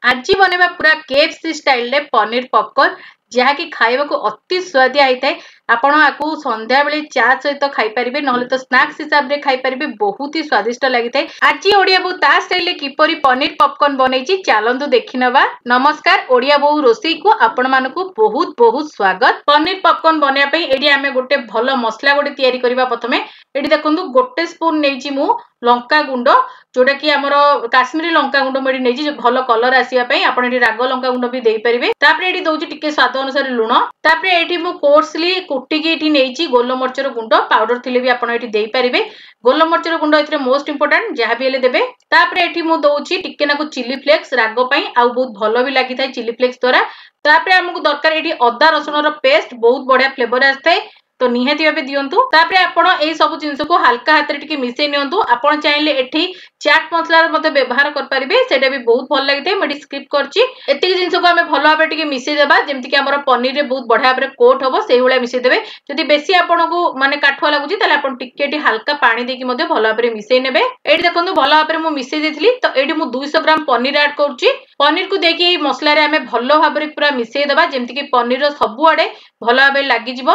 ଆଜି ବନେଇବା ପୁରା କେଏଫସି ଷ୍ଟାଇଲରେ ପନିର ପପକର୍ନ, ଯାହାକି ଖାଇବାକୁ ଅତି ସୁଆଦିଆ ହେଇଥାଏ। ଆପଣ ଆକୁ ସନ୍ଧ୍ୟାବେଳେ ଚା ସହିତ ଖାଇପାରିବେ, ନହେଲେ ତ ସ୍ନାକ୍ସ ହିସାବରେ ଖାଇପାରିବେ। ବହୁତ ହି ସ୍ୱାଦିଷ୍ଟ ଲାଗିଥାଏ। ଆଜି ଓଡ଼ିଆ ବୋଉ ତା ଷ୍ଟାଇଲରେ କିପରି ପନିର ପପକର୍ନ ବନେଇଛି, ଚାଲନ୍ତୁ ଦେଖିନେବା। ନମସ୍କାର, ଓଡ଼ିଆ ବୋଉ ରୋଷେଇକୁ ଆପଣମାନଙ୍କୁ ବହୁତ ବହୁତ ସ୍ୱାଗତ। ପନିର ପପକର୍ନ ବନେଇବା ପାଇଁ ଏଠି ଆମେ ଗୋଟେ ଭଲ ମସଲା ଗୋଟେ ତିଆରି କରିବା। ପ୍ରଥମେ ଏଠି ଦେଖନ୍ତୁ, ଗୋଟେ ସ୍ପୁନ ନେଇଛି ମୁଁ ଲଙ୍କା ଗୁଣ୍ଡ, ଯୋଉଟା କି ଆମର କାଶ୍ମୀରୀ ଲଙ୍କା ଗୁଣ୍ଡ ମୁଁ ଏଠି ନେଇଛି ଭଲ କଲର ଆସିବା ପାଇଁ। ଆପଣ ଏଠି ରାଗ ଲଙ୍କା ଗୁଣ୍ଡ ବି ଦେଇପାରିବେ। ତାପରେ ଏଠି ଦଉଛି ଟିକେ ସ୍ୱାଦ ଅନୁସାରେ ଲୁଣ। ତାପରେ ଏଠି ମୁଁ କୋର୍ସଲି କୁଟିକି ଏଠି ନେଇଛି ଗୋଲମରିଚର ଗୁଣ୍ଡ, ପାଉଡର ଥିଲେ ବି ଆପଣ ଏଠି ଦେଇପାରିବେ। ଗୋଲମରିଚର ଗୁଣ୍ଡ ଏଥିରେ ମୋଷ୍ଟ ଇମ୍ପୋର୍ଟାଣ୍ଟ, ଯାହା ବି ହେଲେ ଦେବେ। ତାପରେ ଏଠି ମୁଁ ଦଉଛି ଟିକେ ନାକୁ ଚିଲି ଫ୍ଲେକ୍ସ ରାଗ ପାଇଁ, ଆଉ ବହୁତ ଭଲ ବି ଲାଗିଥାଏ ଚିଲି ଫ୍ଲେକ୍ସ ଦ୍ୱାରା। ତାପରେ ଆମକୁ ଦରକାର ଏଠି ଅଦା ରସୁଣର ପେଷ୍ଟ, ବହୁତ ବଢିଆ ଫ୍ଲେଭର ଆସିଥାଏ, ତ ନିହାତି ଭାବେ ଦିଅନ୍ତୁ। ତାପରେ ଆପଣ ଏଇ ସବୁ ଜିନିଷକୁ ହାଲକା ହାତରେ ଟିକେ ମିଶେଇ ନିଅନ୍ତୁ। ଆପଣ ଚାହିଁଲେ ଏଠି ଚାଟ୍ ମସଲାର ମଧ୍ୟ ବ୍ୟବହାର କରିପାରିବେ, ସେଇଟା ବି ବହୁତ ଭଲ ଲାଗିଥାଏ। ମୁଁ ଏଠି ସ୍କିପ୍ କରିଛି। ଏତିକି ଜିନିଷକୁ ଆମେ ଭଲ ଭାବରେ ଟିକେ ମିଶେଇ ଦେବା, ଯେମିତିକି ଆମର ପନିରରେ ବହୁତ ବଢିଆ ଭାବରେ କୋଟ୍ ହବ, ସେଇଭଳିଆ ମିଶେଇ ଦେବେ। ଯଦି ବେଶୀ ଆପଣଙ୍କୁ ମାନେ କାଠୁଆ ଲାଗୁଛି, ତାହେଲେ ଆପଣ ଟିକେ ଏଠି ହାଲକା ପାଣି ଦେଇକି ମଧ୍ୟ ଭଲ ଭାବରେ ମିଶେଇ ନେବେ। ଏଇଠି ଦେଖନ୍ତୁ, ଭଲ ଭାବରେ ମୁଁ ମିଶେଇ ଦେଇଥିଲି। ତ ଏଇଠି ମୁଁ 200 ଗ୍ରାମ ପନିର ଆଡ୍ କରୁଛି। ପନିରକୁ ଦେଇକି ଏଇ ମସଲାରେ ଆମେ ଭଲ ଭାବରେ ପୁରା ମିଶେଇ ଦେବା, ଯେମିତିକି ପନିରର ସବୁଆଡେ ଭଲ ଭାବରେ ଲାଗିଯିବ,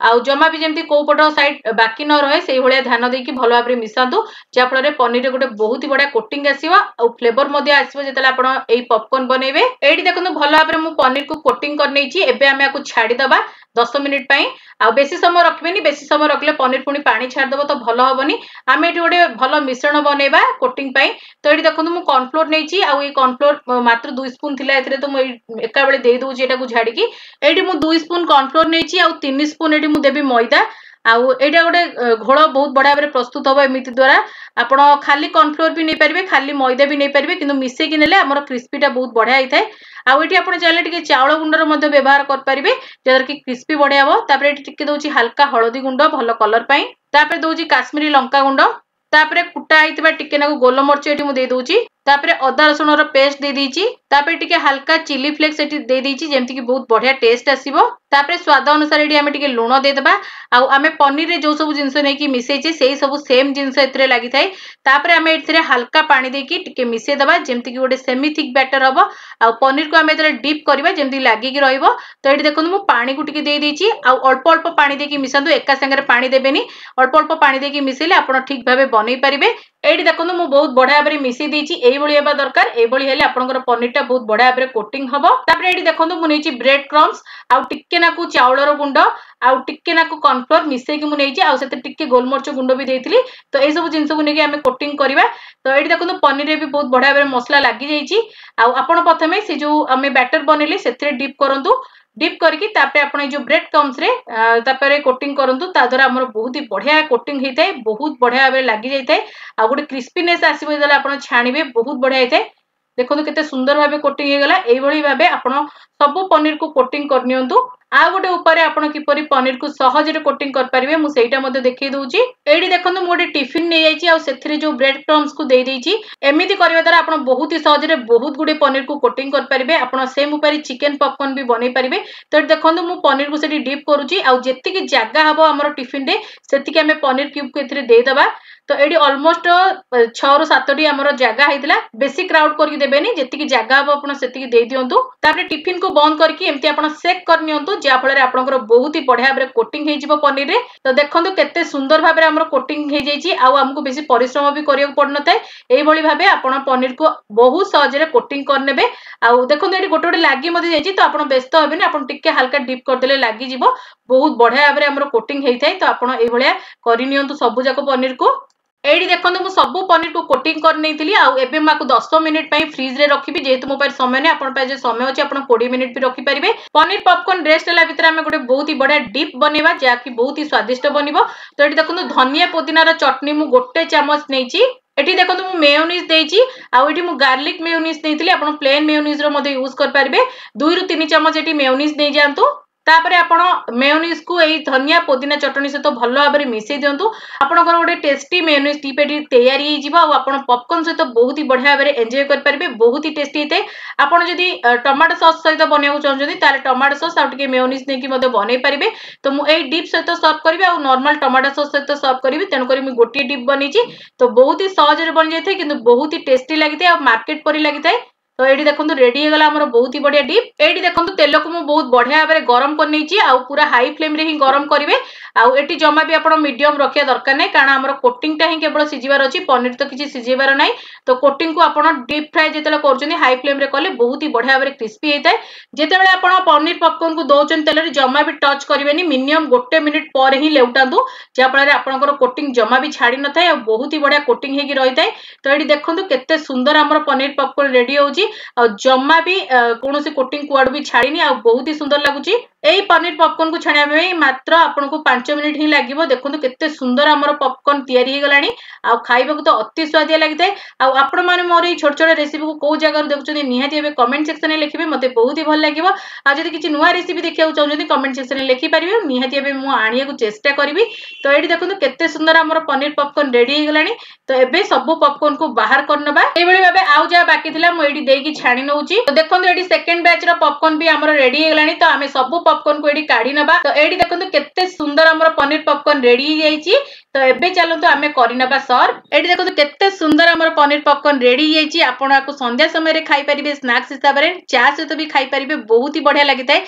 ଆଉ ଜମା ବି ଯେମିତି କୋଉ ପଟ ସାଇଡ୍ ବାକି ନ ରହେ, ସେଇଭଳିଆ ଧ୍ୟାନ ଦେଇକି ଭଲ ଭାବରେ ମିଶାନ୍ତୁ, ଯାହାଫଳରେ ପନିରରେ ଗୋଟେ ବହୁତ ହି ବଢିଆ କୋଟିଂ ଆସିବ ଆଉ ଫ୍ଲେଭର ମଧ୍ୟ ଆସିବ ଯେତେବେଳେ ଆପଣ ଏଇ ପପକର୍ନ ବନେଇବେ। ଏଇଠି ଦେଖନ୍ତୁ, ଭଲ ଭାବରେ ମୁଁ ପନିରକୁ କୋଟିଂ କରିନେଇଛି। ଏବେ ଆମେ ଆକୁ ଛାଡିଦବା 10 ମିନିଟ୍ ପାଇଁ, ଆଉ ବେଶୀ ସମୟ ରଖିବେନି। ବେଶୀ ସମୟ ରଖିଲେ ପନିର ପୁଣି ପାଣି ଛାଡ଼ିଦବ, ତ ଭଲ ହବନି। ଆମେ ଏଠି ଗୋଟେ ଭଲ ମିଶ୍ରଣ ବନେଇବା କୋଟିଂ ପାଇଁ। ତ ଏଇଠି ଦେଖନ୍ତୁ, ମୁଁ କର୍ନଫ୍ଲୋର ନେଇଛି, ଆଉ ଏଇ କର୍ନଫ୍ଲୋର ମାତ୍ର 2 ସ୍ପୁନ ଥିଲା ଏଥିରେ, ତ ମୁଁ ଏଇ ଏକା ବେଳେ ଦେଇ ଦଉଛି ଏଟାକୁ ଝାଡିକି। ଏଇଠି ମୁଁ 2 ସ୍ପୁନ କର୍ନଫ୍ଲୋର ନେଇଛି, ଆଉ 3 ସ୍ପୁନ ଏଠି ମୁଁ ଦେବି ମଇଦା। ଆଉ ଏଇଟା ଗୋଟେ ଘୋଳ ବହୁତ ବଢିଆ ଭାବରେ ପ୍ରସ୍ତୁତ ହବ ଏମିତି ଦ୍ୱାରା। ଆପଣ ଖାଲି କର୍ନଫ୍ଲୋର ବି ନେଇପାରିବେ, ଖାଲି ମଇଦା ବି ନେଇପାରିବେ, କିନ୍ତୁ ମିଶେଇକି ନେଲେ ଆମର କ୍ରିସ୍ପିଟା ବହୁତ ବଢିଆ ହେଇଥାଏ। ଆଉ ଏଠି ଆପଣ ଚାହିଁଲେ ଟିକେ ଚାଉଳ ଗୁଣ୍ଡର ମଧ୍ୟ ବ୍ୟବହାର କରିପାରିବେ, ଯାହାଦ୍ୱାରା କି କ୍ରିସ୍ପି ବଢିଆ ହବ। ତାପରେ ଏଠି ଟିକେ ଦଉଛି ହାଲକା ହଳଦୀ ଗୁଣ୍ଡ ଭଲ କଲର ପାଇଁ। ତାପରେ ଦଉଛି କାଶ୍ମୀରୀ ଲଙ୍କା ଗୁଣ୍ଡ। ତାପରେ କୁଟା ହେଇଥିବା ଟିକେ ନାକୁ ଗୋଲମରିଚ ଏଠି ମୁଁ ଦେଇଦଉଛି। ତାପରେ ଅଦା ରସୁଣର ପେଷ୍ଟ ଦେଇଦେଇଛି। ତାପରେ ଟିକେ ହାଲକା ଚିଲି ଫ୍ଲେକ୍ସ ଏଠି ଦେଇଦେଇଛି, ଯେମିତିକି ବହୁତ ବଢିଆ ଟେଷ୍ଟ ଆସିବ। ତାପରେ ସ୍ୱାଦ ଅନୁସାରେ ଏଠି ଆମେ ଟିକେ ଲୁଣ ଦେଇଦେବା। ଆଉ ଆମେ ପନିରରେ ଯୋଉ ସବୁ ଜିନିଷ ନେଇକି ମିଶେଇଛେ, ସେଇ ସବୁ ସେମ୍ ଜିନିଷ ଏଥିରେ ଲାଗିଥାଏ। ତାପରେ ଆମେ ଏଥିରେ ହାଲକା ପାଣି ଦେଇକି ଟିକେ ମିଶେଇଦେବା, ଯେମିତିକି ଗୋଟେ ସେମି ଥିକ୍ ବ୍ୟାଟର ହବ, ଆଉ ପନିରକୁ ଆମେ ଏଥିରେ ଡିପ୍ କରିବା ଯେମିତି ଲାଗିକି ରହିବ। ତ ଏଠି ଦେଖନ୍ତୁ, ମୁଁ ପାଣିକୁ ଟିକେ ଦେଇଦେଇଛି, ଆଉ ଅଳ୍ପ ଅଳ୍ପ ପାଣି ଦେଇକି ମିଶାନ୍ତୁ, ଏକା ସାଙ୍ଗରେ ପାଣି ଦେବେନି। ଅଳ୍ପ ଅଳ୍ପ ପାଣି ଦେଇକି ମିଶେଇଲେ ଆପଣ ଠିକ ଭାବେ ବନେଇ ପାରିବେ। ଏଇଠି ଦେଖନ୍ତୁ, ମୁଁ ବହୁତ ବଢିଆ ଭାବରେ ମିଶେଇ ଦେଇଛି। ଏଇଭଳି ହେବା ଦରକାର। ଏଇଭଳି ହେଲେ ଆପଣଙ୍କର ପନିରଟା ବହୁତ ବଢିଆ ଭାବରେ କୋଟିଂ ହବ। ତାପରେ ଏଇଠି ଦେଖନ୍ତୁ, ମୁଁ ନେଇଛି ବ୍ରେଡ କ୍ରମ୍ସ, ଆଉ ଟିକେ ନାକୁ ଚାଉଳର ଗୁଣ୍ଡ, ଆଉ ଟିକେ ନାକୁ କର୍ନଫ୍ଲୋର ମିଶେଇକି ମୁଁ ନେଇଛି, ଆଉ ସେଥିରେ ଟିକେ ଗୋଲମରିଚ ଗୁଣ୍ଡ ବି ଦେଇଥିଲି। ତ ଏଇ ସବୁ ଜିନିଷକୁ ନେଇକି ଆମେ କୋଟିଂ କରିବା। ତ ଏଇଠି ଦେଖନ୍ତୁ, ପନିରରେ ବି ବହୁତ ବଢିଆ ଭାବରେ ମସଲା ଲାଗିଯାଇଛି। ଆଉ ଆପଣ ପ୍ରଥମେ ସେ ଯୋଉ ଆମେ ବ୍ୟାଟର ବନେଇଲେ ସେଥିରେ ଡିପ୍ କରନ୍ତୁ। ଡିପ୍ କରିକି ତାପରେ ଆପଣ ଏଇ ଯୋଉ ବ୍ରେଡ କ୍ରମ୍ସରେ ତାପରେ କୋଟିଂ କରନ୍ତୁ। ତା ଦ୍ୱାରା ଆମର ବହୁତ ହି ବଢିଆ କୋଟିଂ ହେଇଥାଏ, ବହୁତ ବଢିଆ ଭାବରେ ଲାଗି ଯାଇଥାଏ, ଆଉ ଗୋଟେ କ୍ରିସ୍ପିନେସ୍ ଆସିବ ଯେତେବେଳେ ଆପଣ ଛାଣିବେ, ବହୁତ ବଢିଆ ହେଇଥାଏ। ଦେଖନ୍ତୁ କେତେ ସୁନ୍ଦର ଭାବେ କୋଟିଂ ହେଇଗଲା। ଏଇଭଳି ଭାବେ ଆପଣ ସବୁ ପନିରକୁ କୋଟିଂ କରିନିଅନ୍ତୁ। ଆଉ ଗୋଟେ ଉପାୟରେ ଆପଣ କିପରି ପନିରକୁ ସହଜରେ କୋଟିଂ କରିପାରିବେ, ମୁଁ ସେଇଟା ମଧ୍ୟ ଦେଖେଇ ଦଉଛି। ଏଇଠି ଦେଖନ୍ତୁ, ମୁଁ ଗୋଟେ ଟିଫିନ ନେଇଯାଇଛି, ଆଉ ସେଥିରେ ଯୋଉ ବ୍ରେଡ କ୍ରମ୍ସକୁ ଦେଇଦେଇଛି। ଏମିତି କରିବା ଦ୍ୱାରା ଆପଣ ବହୁତ ହି ସହଜରେ ବହୁତ ଗୁଡିଏ ପନିରକୁ କୋଟିଂ କରିପାରିବେ। ଆପଣ ସେମ୍ ଉପାୟରେ ଚିକେନ ପପକର୍ନ ବି ବନେଇ ପାରିବେ। ତ ଏଠି ଦେଖନ୍ତୁ, ମୁଁ ପନିରକୁ ସେଠି ଡିପ୍ କରୁଛି, ଆଉ ଯେତିକି ଜାଗା ହବ ଆମର ଟିଫିନରେ ସେତିକି ଆମେ ପନିର କ୍ୟୁବକୁ ଏଥିରେ ଦେଇଦବା। ତ ଏଇଠି ଅଲମୋଷ୍ଟ 6ରୁ 7ଟି ଆମର ଜାଗା ହେଇଥିଲା। ବେଶୀ କ୍ରାଉଡ କରିକି ଦେବେନି, ଯେତିକି ଜାଗା ହବ ଆପଣ ସେତିକି ଦେଇଦିଅନ୍ତୁ। ତାପରେ ଟିଫିନକୁ ବନ୍ଦ କରିକି ଏମିତି ଆପଣ ସେକ୍ କରିନିଅନ୍ତୁ, ଯାହାଫଳରେ ଆପଣଙ୍କର ବହୁତ ହି ବଢିଆ ଭାବରେ କୋଟିଂ ହେଇଯିବ ପନିରରେ। ତ ଦେଖନ୍ତୁ କେତେ ସୁନ୍ଦର ଭାବରେ ଆମର କୋଟିଂ ହେଇଯାଇଛି, ଆଉ ଆମକୁ ବେଶୀ ପରିଶ୍ରମ ବି କରିବାକୁ ପଡିନଥାଏ। ଏଇଭଳି ଭାବେ ଆପଣ ପନିରକୁ ବହୁତ ସହଜରେ କୋଟିଂ କରିନେବେ। ଆଉ ଦେଖନ୍ତୁ, ଏଠି ଗୋଟେ ଗୋଟେ ଲାଗି ମଧ୍ୟ ଯାଇଛି, ତ ଆପଣ ବ୍ୟସ୍ତ ହେବେନି। ଆପଣ ଟିକେ ହାଲକା ଡିପ୍ କରିଦେଲେ ଲାଗିଯିବ। ବହୁତ ବଢିଆ ଭାବରେ ଆମର କୋଟିଂ ହେଇଥାଏ। ତ ଆପଣ ଏଇଭଳିଆ କରିନିଅନ୍ତୁ ସବୁ ଯାକ ପନିରକୁ। ଏଇଠି ଦେଖନ୍ତୁ, ମୁଁ ସବୁ ପନିରକୁ କୋଟିଂ କରିନେଇଥିଲି, ଆଉ ଏବେ ମୁଁ ଆକୁ 10 ମିନିଟ୍ ପାଇଁ ଫ୍ରିଜରେ ରଖିବି। ଯେହେତୁ ମୋ ପାଖରେ ସମୟ ନାହିଁ, ଆପଣଙ୍କ ପାଖରେ ସମୟ ଅଛି ଆପଣ 20 ମିନିଟ୍ ବି ରଖିପାରିବେ। ପନିର ପପକର୍ନ ରେଷ୍ଟ ହେଲା ଭିତରେ ଆମେ ଗୋଟେ ବହୁତ ହି ବଢିଆ ଡିପ୍ ବନେଇବା, ଯାହାକି ବହୁତ ହି ସ୍ୱାଦିଷ୍ଟ ବନିବ। ତ ଏଠି ଦେଖନ୍ତୁ, ଧନିଆ ପୋଦିନାର ଚଟଣି ମୁଁ ଗୋଟେ ଚାମଚ ନେଇଛି। ଏଠି ଦେଖନ୍ତୁ, ମୁଁ ମେୟୋନିଜ ଦେଇଛି, ଆଉ ଏଠି ମୁଁ ଗାର୍ଲିକ ମେୟୋନିଜ ନେଇଥିଲି, ଆପଣ ପ୍ଲେନ୍ ମେୟୋନିଜର ମଧ୍ୟ ୟୁଜ କରିପାରିବେ। 2ରୁ 3 ଚାମଚ ଏଠି ମେୟୋନିଜ ନେଇଯାଆନ୍ତୁ। ତାପରେ ଆପଣ ମେୟୋନିଜକୁ ଏଇ ଧନିଆ ପୋଦିନା ଚଟଣି ସହିତ ଭଲ ଭାବରେ ମିଶେଇ ଦିଅନ୍ତୁ। ଆପଣଙ୍କର ଗୋଟେ ଟେଷ୍ଟି ମେୟୋନିଜ ଡିପ୍ ଏଠି ତିଆରି ହେଇଯିବ, ଆଉ ଆପଣ ପପକର୍ନ ସହିତ ବହୁତ ହି ବଢିଆ ଭାବରେ ଏନ୍ଜୟ କରିପାରିବେ। ବହୁତ ହି ଟେଷ୍ଟି ହେଇଥାଏ। ଆପଣ ଯଦି ଟମାଟୋ ସସ୍ ସହିତ ବନେଇବାକୁ ଚାହୁଁଛନ୍ତି, ତାହେଲେ ଟମାଟୋ ସସ୍ ଆଉ ଟିକେ ମେୟୋନିଜ ନେଇକି ମଧ୍ୟ ବନେଇ ପାରିବେ। ତ ମୁଁ ଏଇ ଡିପ୍ ସହିତ ସର୍ଭ କରିବି ଆଉ ନର୍ମାଲ ଟମାଟୋ ସସ୍ ସହିତ ସର୍ଭ କରିବି, ତେଣୁକରି ମୁଁ ଗୋଟିଏ ଡିପ୍ ବନେଇଛି। ତ ବହୁତ ହି ସହଜରେ ବନିଯାଇଥାଏ, କିନ୍ତୁ ବହୁତ ହି ଟେଷ୍ଟି ଲାଗିଥାଏ, ଆଉ ମାର୍କେଟ ପରି ଲାଗିଥାଏ। ତ ଏଇଠି ଦେଖନ୍ତୁ ରେଡି ହେଇଗଲା ଆମର ବହୁତ ହି ବଢିଆ ଡିପ୍। ଏଇଠି ଦେଖନ୍ତୁ ତେଲକୁ ମୁଁ ବହୁତ ବଢିଆ ଭାବରେ ଗରମ କରିନେଇଛି, ଆଉ ପୁରା ହାଇ ଫ୍ଲେମ୍ରେ ହିଁ ଗରମ କରିବେ। ଆଉ ଏଠି ଜମା ବି ଆପଣ ମିଡିୟମ ରଖିବା ଦରକାର ନାହିଁ, କାରଣ ଆମର କୋଟିଂଟା ହିଁ କେବଳ ସିଝିବାର ଅଛି, ପନିର ତ କିଛି ସିଝେଇବାର ନାହିଁ। ତ କୋଟିଂକୁ ଆପଣ ଡିପ୍ ଫ୍ରାଏ ଯେତେବେଳେ କରୁଛନ୍ତି ହାଇ ଫ୍ଲେମ୍ରେ କଲେ ବହୁତ ହି ବଢିଆ ଭାବରେ କ୍ରିସ୍ପି ହେଇଥାଏ। ଯେତେବେଳେ ଆପଣ ପନିର ପପକର୍ଣ୍ଣକୁ ଦଉଛନ୍ତି ତେଲରେ ଜମା ବି ଟଚ୍ କରିବେନି, ମିନିମମ୍ 1 ମିନିଟ୍ ପରେ ହିଁ ଲେଉଟାନ୍ତୁ, ଯାହାଫଳରେ ଆପଣଙ୍କର କୋଟିଂ ଜମା ବି ଛାଡି ନଥାଏ ଆଉ ବହୁତ ହି ବଢିଆ କୋଟିଂ ହେଇକି ରହିଥାଏ। ତ ଏଇଠି ଦେଖନ୍ତୁ କେତେ ସୁନ୍ଦର ଆମର ପନିର ପପକର୍ଣ୍ଣ ରେଡି ହଉଛି, ଆଉ ଜମା ବି କୌଣସି କୋଟିଂ କୁଆଡୁ ବି ଛାଡିନି, ଆଉ ବହୁତ ହି ସୁନ୍ଦର ଲାଗୁଛି। ଏଇ ପନିର ପପକର୍ଣ୍ଣକୁ ଛାଣିବା ପାଇଁ ମାତ୍ର ଆପଣଙ୍କୁ 5 ମିନିଟ୍ ହିଁ ଲାଗିବ। ଦେଖନ୍ତୁ କେତେ ସୁନ୍ଦର ଆମର ପପକର୍ଣ୍ଣ ତିଆରି ହେଇଗଲାଣି, ଆଉ ଖାଇବାକୁ ତ ଅତି ସୁଆଦିଆ ଲାଗିଥାଏ। ଆଉ ଆପଣମାନେ ମୋର ଏଇ ଛୋଟ ଛୋଟ ରେସିପିକୁ କୋଉ ଜାଗାରୁ ଦେଖୁଛନ୍ତି ନିହାତି ଏବେ କମେଣ୍ଟ ସେକ୍ସନରେ ଲେଖିବେ, ମତେ ବହୁତ ହି ଭଲ ଲାଗିବ। ଆଉ ଯଦି କିଛି ନୂଆ ରେସିପି ଦେଖିବାକୁ ଚାହୁଁଛନ୍ତି କମେଣ୍ଟ ସେକ୍ସନରେ ଲେଖିପାରିବେ, ନିହାତି ଏବେ ମୁଁ ଆଣିବାକୁ ଚେଷ୍ଟା କରିବି। ତ ଏଇଠି ଦେଖନ୍ତୁ କେତେ ସୁନ୍ଦର ଆମର ପନିର ପପକର୍ଣ୍ଣ ରେଡି ହେଇଗଲାଣି। ତ ଏବେ ସବୁ ପପକର୍ଣ୍ଣକୁ ବାହାର କରିନେବା। ଏଇଭଳି ଭାବେ ଆଉ ଯାହା ବାକି ଥିଲା ମୁଁ ଏଇଠି ଦେଇକି ଛାଣି ନଉଛି। ତ ଦେଖନ୍ତୁ ଏଇଠି ସେକେଣ୍ଡ ବ୍ୟାଚ୍ ର ପପକର୍ଣ୍ଣ ବି ଆମର ରେଡି ହେଇଗଲାଣି। ତ ଆମେ ସବୁ ପପକର୍ଣ୍ଣକୁ ଏଇଠି କାଢି ନବା। ତ ଏଇଠି ଦେଖନ୍ତୁ କେତେ ସୁନ୍ଦର ଆମର ପନିର ପପକର୍ଣ୍ଣ ରେଡି ହେଇଯାଇଛି। ତ ଏବେ ଚାଲନ୍ତୁ ଆମେ କରିନେବା ସର୍ଭ। ଏଇଠି ଦେଖନ୍ତୁ କେତେ ସୁନ୍ଦର ଆମର ପନିର ପପକର୍ଣ୍ଣ ରେଡି ହେଇଯାଇଛି। ଆପଣ ଆକୁ ସନ୍ଧ୍ୟା ସମୟରେ ଖାଇପାରିବେ ସ୍ନାକ୍ସ ହିସାବରେ, ଚା ସହିତ ବି ଖାଇପାରିବେ, ବହୁତ ହି ବଢିଆ ଲାଗିଥାଏ।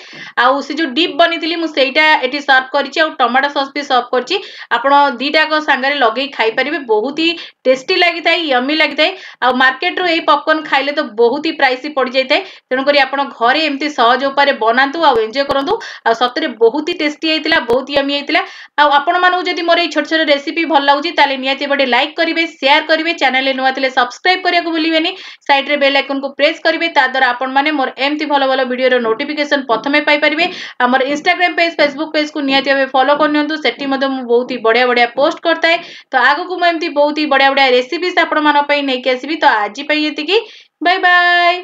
ଆଉ ସେ ଯୋଉ ଡିପ୍ ବନେଇଥିଲି ମୁଁ ସେଇଟା ଏଠି ସର୍ଭ କରିଛି, ଆଉ ଟମାଟୋ ସସ୍ ବି ସର୍ଭ କରିଛି। ଆପଣ ଦିଟାକ ସାଙ୍ଗରେ ଲଗେଇ ଖାଇପାରିବେ, ବହୁତ ହି ଟେଷ୍ଟି ଲାଗିଥାଏ, ୟମି ଲାଗିଥାଏ। ଆଉ ମାର୍କେଟରୁ ଏଇ ପପକର୍ଣ୍ଣ ଖାଇଲେ ତ ବହୁତ ହି ପ୍ରାଇସି ପଡିଯାଇଥାଏ। ତେଣୁକରି ଆପଣ ଘରେ ଏମିତି ସହଜ ଉପାୟରେ ବନାନ୍ତୁ ଆଉ ଏନ୍ଜୟ କରନ୍ତୁ। ଆଉ ସତରେ ବହୁତ ହି ଟେଷ୍ଟି ହେଇଥିଲା, ବହୁତ ୟମି ହେଇଥିଲା। ଆଉ ଆପଣମାନଙ୍କୁ ଯଦି ମୋର ଏଇ ଛୋଟ ଛୋଟ ରେସିପି ଭଲ ଲାଗୁଛି ତାହେଲେ ନିହାତି ଗୋଟେ ଲାଇକ୍ କରିବେ, ସେୟାର କରିବେ, ଚ୍ୟାନେଲରେ ନୂଆ ଥିଲେ ସବସ୍କ୍ରାଇବ କରିବାକୁ ଭୁଲିବେନି, ସାଇଡ୍ରେ ବେଲ୍ ଆଇକନକୁ ପ୍ରେସ୍ କରିବେ, ତା ଦ୍ୱାରା ଆପଣମାନେ ମୋର ଏମିତି ଭଲ ଭଲ ଭିଡ଼ିଓର ନୋଟିଫିକେସନ ପ୍ରଥମେ ପାଇପାରିବେ। ଆମର ଇନଷ୍ଟାଗ୍ରାମ ପେଜ୍, ଫେସବୁକ୍ ପେଜ୍କୁ ନିହାତି ଭାବେ ଫଲୋ କରିନିଅନ୍ତୁ, ସେଠି ମଧ୍ୟ ମୁଁ ବହୁତ ହି ବଢିଆ ବଢିଆ ପୋଷ୍ଟ କରିଥାଏ। ତ ଆଗକୁ ମୁଁ ଏମିତି ବହୁତ ହି ବଢିଆ ବଢିଆ ରେସିପିସ୍ ଆପଣମାନଙ୍କ ପାଇଁ ନେଇକି ଆସିବି। ତ ଆଜି ପାଇଁ ଏତିକି, ବାଏ ବାଏ।